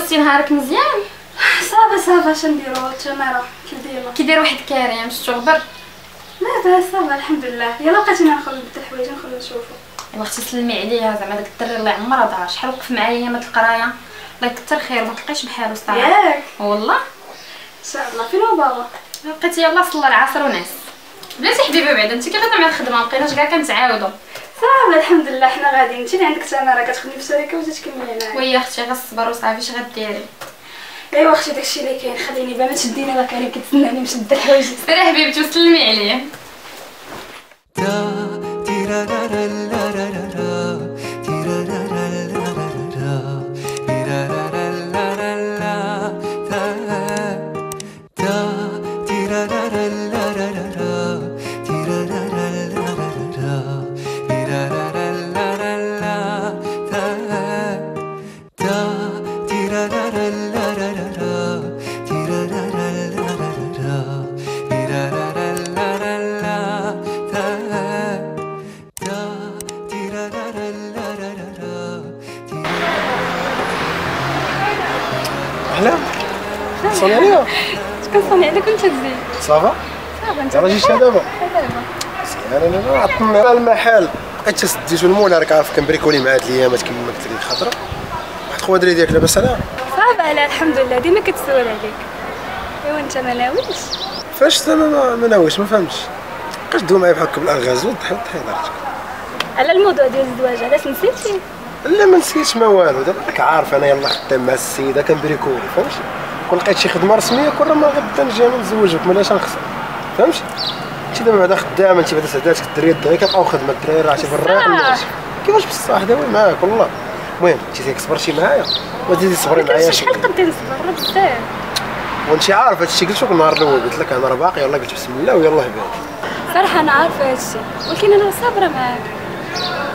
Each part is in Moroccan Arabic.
دوزتي نهارك مزيان؟ ça va ça va، شنديرو التماره كي ديما. كي داير واحد كريم شفتو غبر؟ لاباس ça va الحمد لله. يلا بقيتينا نخرج نبدل الحوايج نخرج نشوفو. ايوا اختي سلمي عليها، زعما داك الدري الله يعمرها دار، شحال وقف معايا ايامات القراية، الله يكثر خير ما تلقايش بحالو الصراحة. ياك والله ان شاء الله. فين هو بابا؟ بقيتي يلاه صلى العصر ونعس. بلاتي حبيبه بعدا انت كي غادا مع الخدمة ما بقيناش كاع كنتعاودوا. ça va الحمد لله حنا غاديين. انت اللي عندك تماره كتخدمي في الشركة وجات تكملي معايا. oui اختي غير الصبر وصافي، اش غديري؟ ايوا اختي داكشي اللي كاين، خليني با ما تشديني راه كريم كيتسناني مشد الحوايج. سيري حبيبتي وسلمي عليه. اهلا، صوني عليا. كنصوني عليك وانت تزيد. ça va؟ ça va انت راه جيتي دابا؟ دابا انا عطلنا على المحل، بقيت سديتو المول، راك عارف كنبريكولي مع هاد الايامات كما قلت لك خطره. واحد خويا دري ديالك لاباس عليها؟ ça va لا الحمد لله، ديما كتسول عليك. ايوا انت ما ناويش؟ فاش زعما ما ناويش؟ ما فهمتش. بقاش دوي معايا بحال هكا بالالغاز، وضحي وضحي هضرتك. على الموضوع ديال الزواج علاش نسيتي؟ لا ما نسيتش ما والو، دابا راك عارف انا يلاه خدام مع السيدة كنبريكولي فهمتي، كون لقيت شي خدمة رسمية كون راه ما غدا نجي انا نتزوجك مالاش نخسر فهمتي. انت دابا بعدا خدامه، انت بعدا سعداتك الدريه دغيا كتلقاو خدمة، الدراري راه بالراق كيفاش بصح داوي معاك والله. المهم انت ديك صبرتي معايا وتزيدي تصبري معايا. شحال قدي نصبر راه بزاف. وانت عارف هادشي قلت لك النهار الاول، قلت لك انا راه باقي يلاه قلت بسم الله ويلاه بادي. صراحة انا عارفه هادشي، ولكن انا صابره معاك،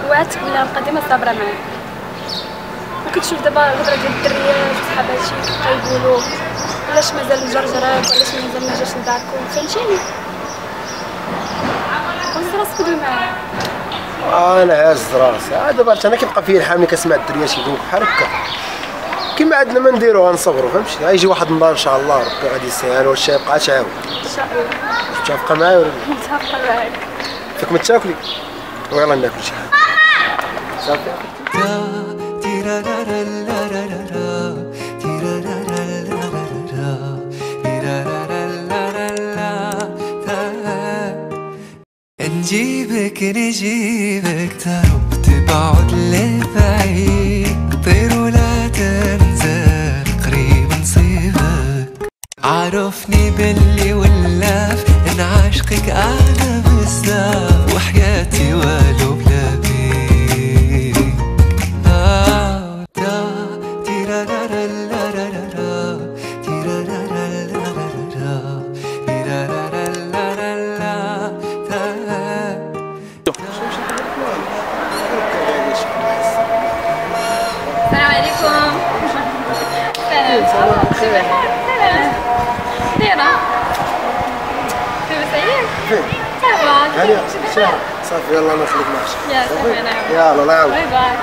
وعدتك بلي غنبقى ديما صابره معاك. وكتشوف دابا الهضرة ديال الدريات وصحاباتي كيبقاو يقولوا علاش مازال مجرجراك وعلاش مازال ما جاش لداركم، فهمتيني؟ هز راسك ودوي معايا. انا هاز راسي دابا انا كيبقى فيا الحال ملي كنسمع الدريات يقولوا بحال هكا، كيما عندنا ما نديرو غنصبروا فهمتي. غيجي واحد النهار ان شاء الله ربي غادي يسهل وهادشي يبقى تعاود ان شاء الله. متفقه معايا ولا لا؟ متفقه معاك. فيك ما تاكلي ويلا ناكل شي حاجة صافي. نجيبك نجيبك تهرب تبعد لبعيد، طير ولا تنزل قريب نصيبك. عرفني باللي ولاف ان عشقك انا بزاف، وحياتي والو بلا بيك. السلام عليكم. سلام. سلام. دايرة لاباس عليك؟ ça va صافي يلا انا نخليك معاك. يا صافي انا يلا الله يعاونك. bye bye.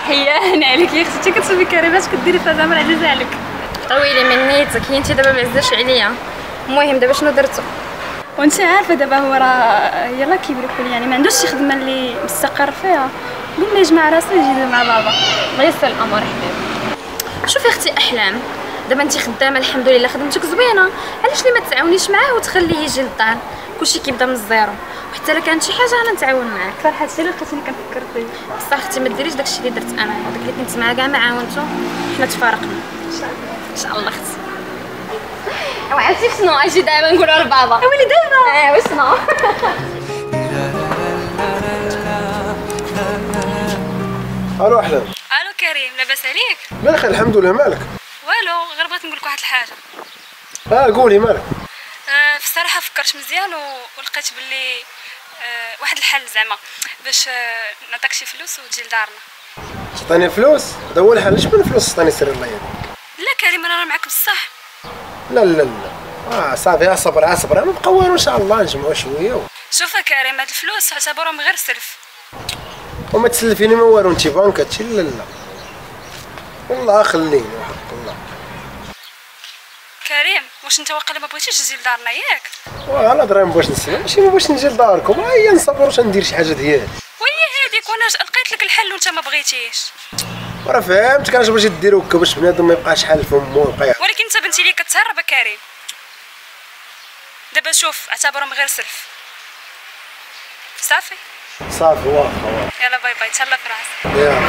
حيان عليك يا اختي، كتشوفي كريمة اش كديري فيها زعما عزيزه عليك. طويلي من نيتك هي انت دابا ما عزاش عليا. المهم دابا شنو درتو؟ وانت عارفه دابا هو راه يلاه كيبريكولي، يعني ما عندوش شي خدمة اللي مستقر فيها، قلنا يجمع راسو يجي مع بابا. الله يسر الامور حبيبي. شوفي اختي احلام، دابا انت خدامه الحمد لله، خدمتك زوينة، علاش لي ما تعاونيش معاه وتخليه يجي للدار؟ كلشي كيبدا من ال zéro، وحتى الا كانت شي حاجة انا نتعاون معاك. صراحة هادشي اللي لقيتيني كنفكر فيه. بصح اختي ما ديريش داكشي اللي درت انا، داك اللي كنت معاه كاع ما عاونته، حنا تفارقنا. ان شاء الله ان شاء الله اختي. وعرفتي شنو اجي دابا نقولوا لبابا؟ ويلي دابا. وشنو؟ الو احلام. الو كريم، لاباس عليك؟ بخير الحمد لله. مالك؟ والو غير بغيت نقول لك واحد الحاجة. قولي مالك؟ في الصراحة فكرت مزيان ولقيت باللي واحد الحل زعما باش نعطيك شي فلوس وتجي لدارنا. تعطيني فلوس؟ هذا هو الحل. اش من فلوس تعطيني؟ سير الله يهديك. لا كريم انا راه معاك بصح. لا لا لا صافي اصبر اصبر، ما بقى والو ان شاء الله نجمعوا شوية. شوف كريم هاد الفلوس اعتبرهم غير سلف. وما تسلفيني ما والو انت بنك هادشي. لا لا والله خليني وحق الله. كريم واش انت واقيلا ما بغيتيش تجي لدارنا ياك؟ واه انا درا ما بغيتش نسمع، ماشي ما بغيتش نجي لداركم، هيا نصبر واش ندير شي حاجة ديالي. وهي هذيك وانا لقيت لك الحل وانت ما بغيتيش. وراه فهمتك علاش بغيتي دير هكا باش بنادم ما يبقاش حال فمو ويبقى. ولكن انت بنتي لي كتهرب كريم. دابا شوف اعتبرهم غير سلف. صافي؟ صافي واخا واخا. يلا bye bye، تهلا في راسك. يلا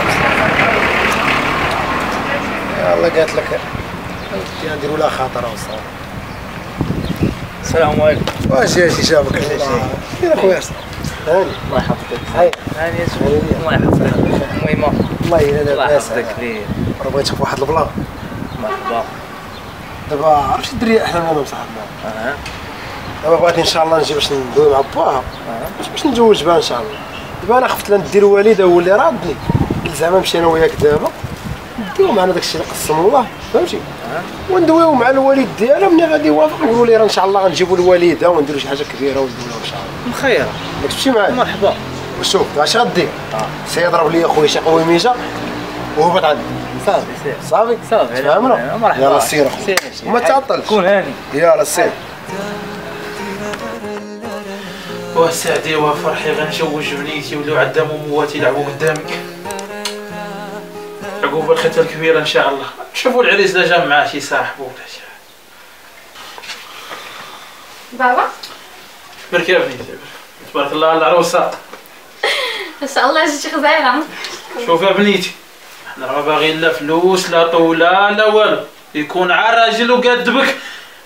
يلا قالت لك نديروا لها خاطر وصافي. السلام عليكم. واش يا شابك الله. يا خويا هاني الله يحفظك. هاني يا سيدي الله يحفظك. المهم الله يلا لاباس الله يحفظك لي. راه بغيتك في واحد ال plan. مرحبا. دابا عرفتي الدريه احلام انا وصاحبنا. دابا بغيت ان شاء الله نجي باش ندوي مع باها باش نتزوج بها ان شاء الله. دابا انا خفت لا ندير والده هو اللي رادني، قلت زعما نمشي انا وياك دابا نديو معنا داكشي اللي قسم الله فهمتي، وندويو مع الوالد ديالها ملي غادي يوافق نقولوا ليه راه ان شاء الله غنجيبوا الوالدة ونديروا شي حاجة كبيرة ونديروها ان شاء الله. مخيرة ياك تمشي معايا؟ مرحبا. وشوف اش غدير، سيضرب لي خويا شي قويميجه وهبط عندي. صافي صافي صافي تفهمنا؟ مرحبا. يلا سير اخويا وما تعطلش، كون هاني. يلا سير. وسعدي وفرحي غنجوج بنيتي ولاو عندها موموات يلعبوا قدامك. عقوبة الختة الكبيرة ان شاء الله. شوفوا العريس لا جا معاه شي صاحبو ولا شي. بابا بركي يا بنيتي، تبارك الله على العروسة. ان شاء الله جيتي غزالة. شوف يا بنيتي، حنا راه ما باغيين لا فلوس لا طولة لا والو، يكون عا راجل وقاد بك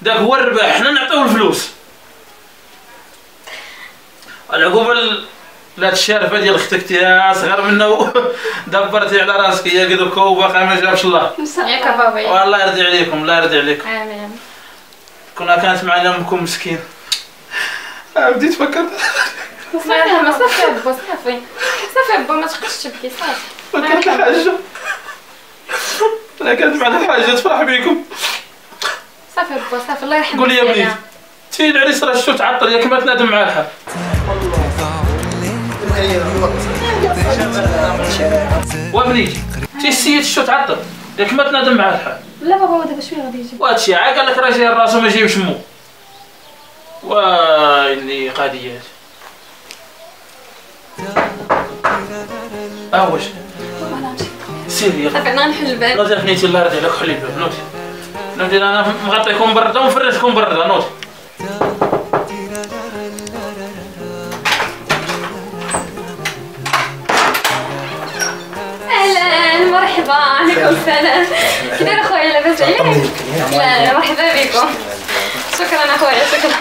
داك هو الرباح، حنا نعطيو الفلوس. العقوبة لا الشارفة ديال اختك تيا صغر منا دبرتي على راسك هي قدك وباقي ما جابش الله. ياك بابا. والله يرضي عليكم، الله يرضي عليكم. امين. كنا كانت معنا امكم مسكين. بديت فكرت. الله يرحمها. صافي با صافي صافي با ما تبقاش تبكي صافي. فكرت الحاجة لا كانت معنا الحاجة تفرح بكم. صافي با صافي الله يرحمها. قولي يا بنيتي تي العريس راه شتو تعطل ياك ما تنادم معاه الحال. وبنيتي تي السيد شتو تعطل ياك ما تنادم معاه الحال. لا بابا هو دابا شوية غادي يجي. وهادشي عا قال لك راه جاي راسو ما جايبش مو. ويلي قضيات. واش سيري يلا. صافي انا نحل الباب. نوضي بنيتي الله يرضي عليك حلي الباب. نوضي نوضي انا مغطيكم برده ونفرشكم برده. نوضي. اهلا مرحبا. عليكم السلام. كي داير اخويا لاباس عليك؟ لا مرحبا بكم. شكرا اخويا شكرا.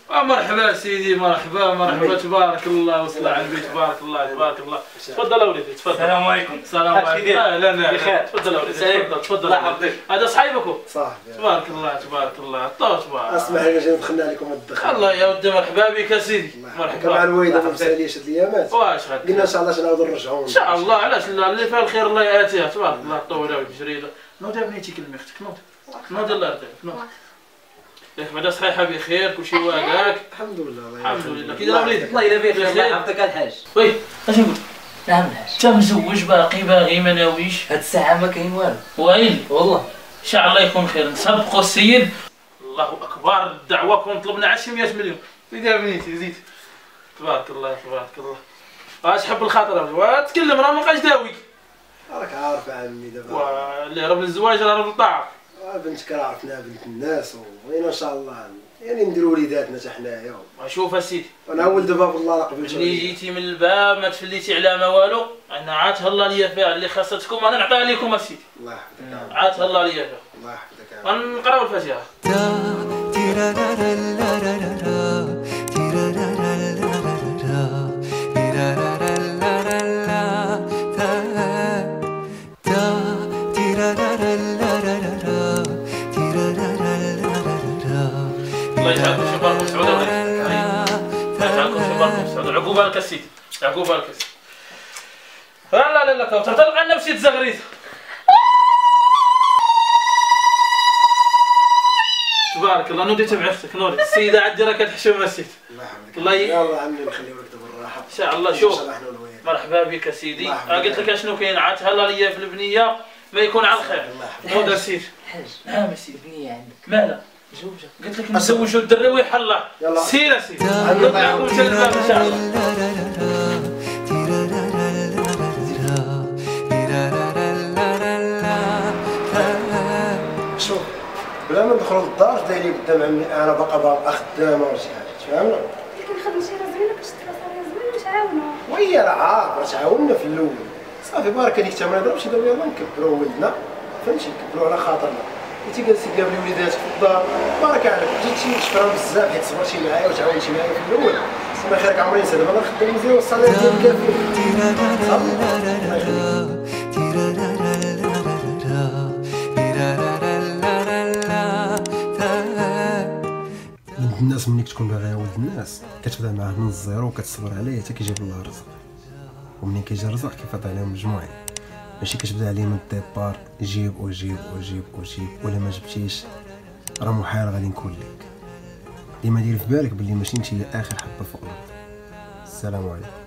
مرحبا سيدي مرحبا مرحبا تبارك الله وصلى على النبي تبارك الله تبارك الله. تفضل اوليدي تفضل. السلام عليكم. السلام عليكم. اهلا بخير. تفضل اوليدي تفضل تفضل. الله يحفظك. هذا صاحبكم؟ صاحبي. تبارك الله تبارك الله. طو تبارك. اسمح لي جينا دخلنا عليكم الدخل. الله يا ودي مرحبا بك سيدي. مرحبا. مع الوالدة ما مساليش هاد الايامات. واش غادي قلنا ان شاء الله نعاودو نرجعو ان شاء الله. علاش لا، اللي فيها الخير الله ياتيها. تبارك الله. طول ولد جريدة. نوضي بنيتي كلمي اختك. نوضي نوضي الله يرضي عليك. نوضي ياك بعدا صحيحه بخير كلشي واقعك الحمد لله. الحمد لله. كي داير وليدي؟ الله الا بخير الله يحفظك الحاج. oui اش نقول؟ نعم الحاج. انت مزوج باقي باغي ما ناويش؟ هاد الساعة ما كاين والو. ويلي والله. ان شاء الله يكون خير. نسبقوا السيد. الله اكبر. الدعوة كون طلبنا على شي 100 مليون. زيد يا بنيتي زيد. تبارك الله تبارك الله. اش حب الخاطر وتكلم راه ما بقاش داوي. راك عارف عمي دابا اللي هرب للزواج راه هرب للطاعة. بنتك راه عرفناها بنت الناس وبغينا ان شاء الله يعني نديروا وليداتنا حتى حنايا. شوف اسيدي انا اول دابا بالله راه قبلت. ملي جيتي من الباب ما تفليتي على ما والو. انا عاد تهلا ليا فيها اللي خاصتكم انا نعطيها لكم اسيدي. الله يحفظك. عاد تهلا ليا فيها. الله يحفظك. غنقراو الفاتحة. الله يجعلكم شي مبارك مسعود. الله يجعلكم شي مبارك مسعود. عقوبه لك السيدي عقوبه لك السيدي. لا لا لا كوثر تلقى لنا بشي تزغريت. تبارك الله. نوضي تبع اختك نوضي. السيدة عندي راه كتحشم السيد. الله يحفظك. الله يلا عمي نخليو لك دابا الراحة ان شاء الله. شوف مرحبا بك سيدي. قلت لك اشنو كاين، عاد تهلا ليا في البنية ما يكون على الخير. خذ سيدي. الحاج. نعم سيدي. البنية عندك مالها؟ مزوجه. قلت لك نزوجوا الدري ويحلى. سير سيدي. نطلعكم حتى الباب ان شاء الله. شوف بلا ما ندخلوا للدار داير لي قدام عمي انا باقا خدامه ولا شي حاجة، تفهمنا؟ ولكن خدمتي راه زوينة، كتشد راسها زوينة وتعاونوا. وهي راه عارف راه تعاوننا في الاول صافي، بارك هذيك الثمانية ضرب شي دابا يلاه نكبروا ولدنا، فهمتي؟ نكبروا على خاطرنا. انت جالسي قابلي وليداتك في الدار، بارك عليك، جيتي شكرا بزاف حيت صبرتي معايا وتعاونتي معايا في الاول. الله خيرك عمري نسى. دابا انا خدام مزيان وال salaire ديالي كافي صافي. الله يخليك. ولد الناس ملي كتكون باغي ولد الناس كتبدا معاه من ال zéro وكتصبر عليه حتى كيجيب الله الرزق، ومنين كيجي الرزق كيفاض عليهم مجموعين، ماشي كتبدا عليه من ال départ جيب وجيب وجيب وجيب، ولا ما جبتيش راه محال غادي نكون لك. ديما دير في بالك بلي ماشي انت هي اخر حبه فوق الارض. السلام عليكم.